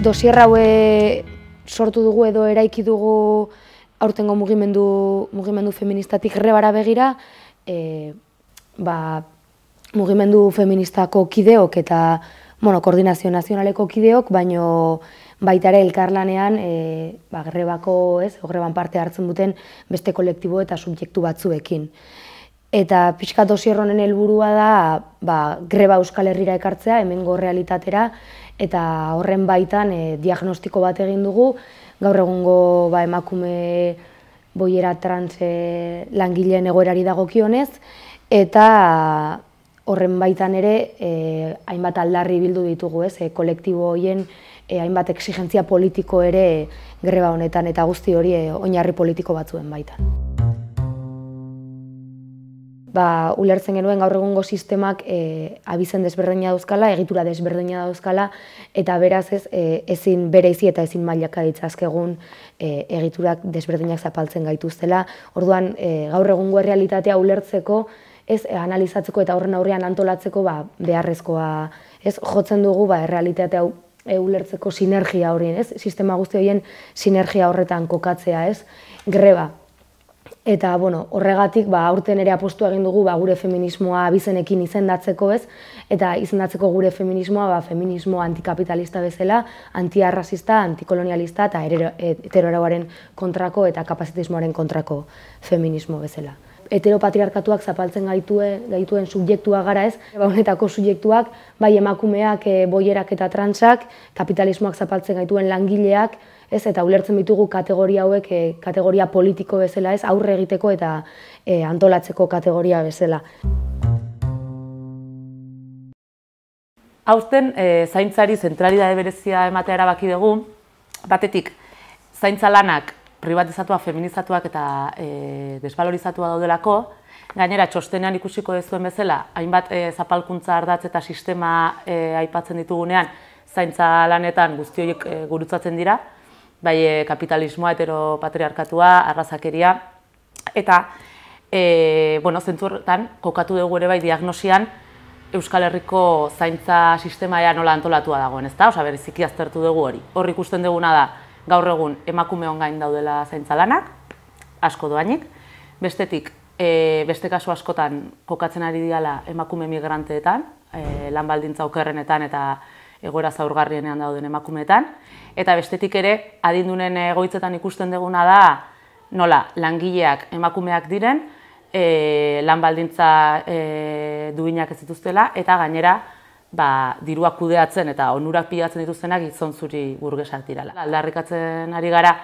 Dosier haue sortu dugu edo eraiki dugu aurtengo mugimendu feministatik grebara begira, mugimendu feministako kideok eta koordinazio nazionaleko kideok, baino baita ere elkarlanean greban parte hartzen duten beste kolektibo eta subjektu batzuekin. Eta pixka dosier honen helburua da greba Euskal Herrira ekartzea, hemengo realitatera, eta horren baitan diagnostiko bat egin dugu, gaur egungo emakume boiera trans langileen egoerari dagokionez, eta horren baitan ere hainbat aldarri bildu ditugu, kolektibo horien hainbat exigentzia politiko ere greba honetan, eta guzti hori oinarri politiko batzuen baitan. Ulertzen genuen gaur egungo sistemak abizen desberdina dauzkala, egitura desberdina dauzkala, eta beraz ezin bereizi eta ezin mailaka ditzazkegun egiturak desberdinak zapaltzen gaituztela. Orduan, gaur egungo errealitatea ulertzeko, analizatzeko eta horren aurrean antolatzeko beharrezkoa jotzen dugu errealitatea ulertzeko sinergia horien, sistema guzti horien sinergia horretan kokatzea, greba. Eta horregatik aurten ere apostu egin dugu gure feminismoa abizenekin izendatzeko, eta izendatzeko gure feminismoa feminismo antikapitalista bezala, antiarrazista, antikolonialista eta heteroarauaren kontrako eta kapazitismoaren kontrako feminismo bezala. Heteropatriarkatuak zapaltzen gaituen subjektua gara, honetako subjektuak, bai emakumeak, boierak eta transak, kapitalismoak zapaltzen gaituen langileak, eta ulertzen ditugu kategoria hauek kategoria politiko bezala, aurre egiteko eta antolatzeko kategoria bezala. Aurten zaintzari zentralidade berezia ematea erabaki dugu, batetik zaintza lanak privatizatua, feminizatuak eta desvalorizatua daudelako, gainera txostenean ikusiko dezuen bezala, hainbat zapalkuntza ardatz eta sistema aipatzen ditugunean, zaintza lanetan guzti horiek gurutzatzen dira, bai kapitalismoa, heteropatriarkatua, arrazakeria, eta zentzu horretan kokatu dugu ere bai diagnosian Euskal Herriko zaintza sistema nola antolatua dagoen, ezta? Bereziki aztertu dugu hori. Hor ikusten duguna da, gaur egun emakumeon gain daudela zaintza lanak, asko doainik, bestetik, beste kasu askotan kokatzen ari diala emakume migranteetan, lan baldintza okerrenetan eta egoera zaurgarrienean dauden emakumeetan, eta bestetik ere, adindunen egoitzetan ikusten duguna da, nola, langileak emakumeak diren, lan baldintza duinak ez dituztela, eta gainera, diruak kudeatzen eta onurak pilatzen dituztenak gizon zuri burgesak dirala. Aldarrikatzen ari gara,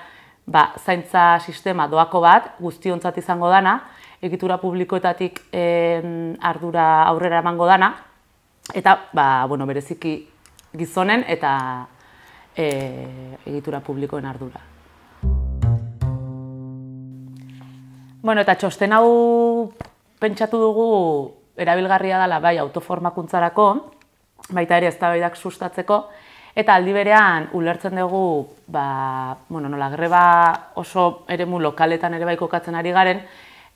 zaintza sistema doako bat, guztiontzat izango dana, egitura publikoetatik ardura aurrera emango dana, eta bereziki gizonen eta egitura publikoen ardura. Eta txosten hau pentsatu dugu erabilgarria dela bai autoformakuntzarako, baita ere eztabaidak sustatzeko, eta aldi berean ulertzen dugu nola greba oso eremu lokaletan ere bai kokatzen ari garen,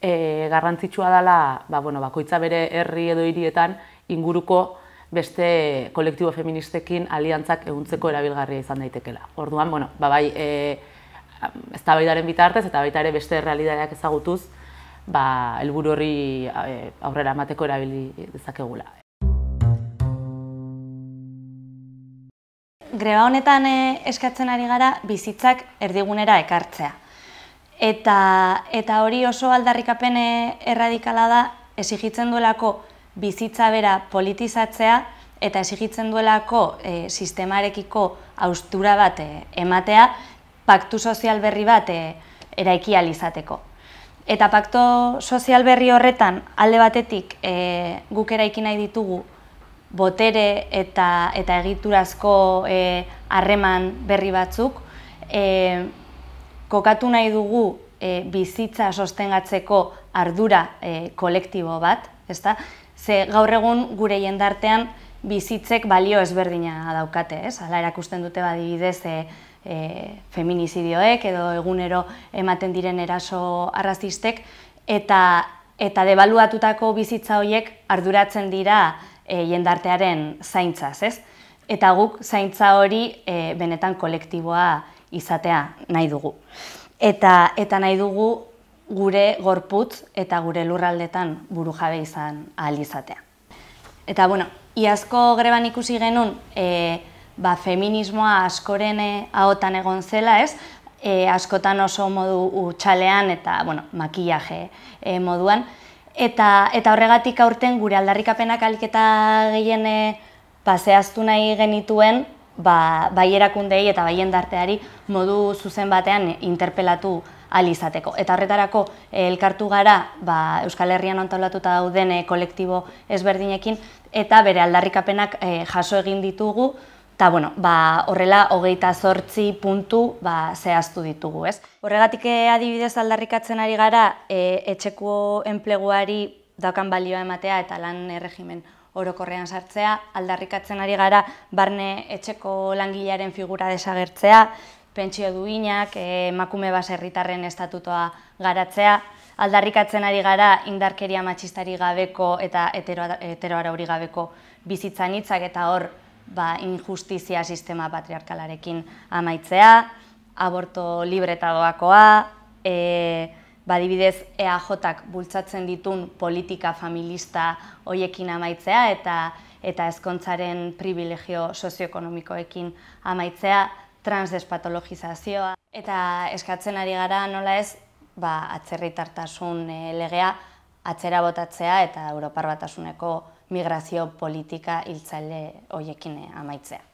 garrantzitsua dela bakoitza bere herri edo hirietan inguruko beste kolektibo feministekin aliantzak ehuntzeko erabilgarria izan daitekela. Orduan, bai eztabaidaren bitartez eta baita ere beste errealitateak ezagutuz, helburu horri aurrera emateko erabili dezakegula. Greba honetan eskatzen ari gara bizitzak erdigunera ekartzea. Eta hori oso aldarrikapen erradikala da, exigitzen duelako bizitza bera politizatzea eta exigitzen duelako sistemarekiko haustura bat ematea, paktu sozial berri bat eraiki ahal izateko. Eta paktu sozial berri horretan alde batetik guk eraiki nahi ditugu botere eta egiturazko harreman berri batzuk, kokatu nahi dugu bizitza sostengatzeko ardura kolektibo bat, ezta? Ze gaur egun gure jendartean bizitzek balio ezberdina daukate, ez? Hala erakusten dute adibidez feminizidioek edo egunero ematen diren eraso arrazistek, eta debaluatutako bizitza horiek arduratzen dira jendartearen zaintzaz, ez? eta guk zaintza hori benetan kolektiboa izatea nahi dugu. Eta nahi dugu gure gorputz eta gure lurraldetan burujabe izan ahal izatea. Eta, iazko greban ikusi genuen, feminismoa askoren ahotan egon zela, ez? Askotan oso modu utxalean eta, makillaje moduan. Eta horregatik aurten gure aldarrikapenak ahalik eta gehien zehaztu nahi genituen, bai erakundei eta bai jendarteari modu zuzen batean interpelatu ahal izateko. Eta horretarako elkartu gara Euskal Herrian antolatuta dauden kolektibo ezberdinekin eta bere aldarrikapenak jaso egin ditugu eta horrela 28 puntu zehaztu ditugu. Horregatik adibidez aldarrikatzen ari gara etxeko enpleguari daukan balioa ematea eta lan erregimen orokorrean sartzea, aldarrikatzen ari gara barne etxeko langilearen figura desagertzea, pentsio duinak, emakume baserritarren estatutoa garatzea, aldarrikatzen ari gara indarkeria matxistari gabeko eta heteroarauri gabeko bizitzan hitzak eta hor injustizia sistema patriarkalarekin amaitzea, aborto libre eta doakoa, adibidez EAJak bultzatzen ditun politika familista hoiekin amaitzea eta ezkontzaren privilegio sozioekonomikoekin amaitzea, transdespatologizazioa. Eta eskatzen ari gara nola ez, atzerritartasun legea atzera botatzea eta Europar Batasuneko migrazio politika hiltzaile hoiekin amaitzea.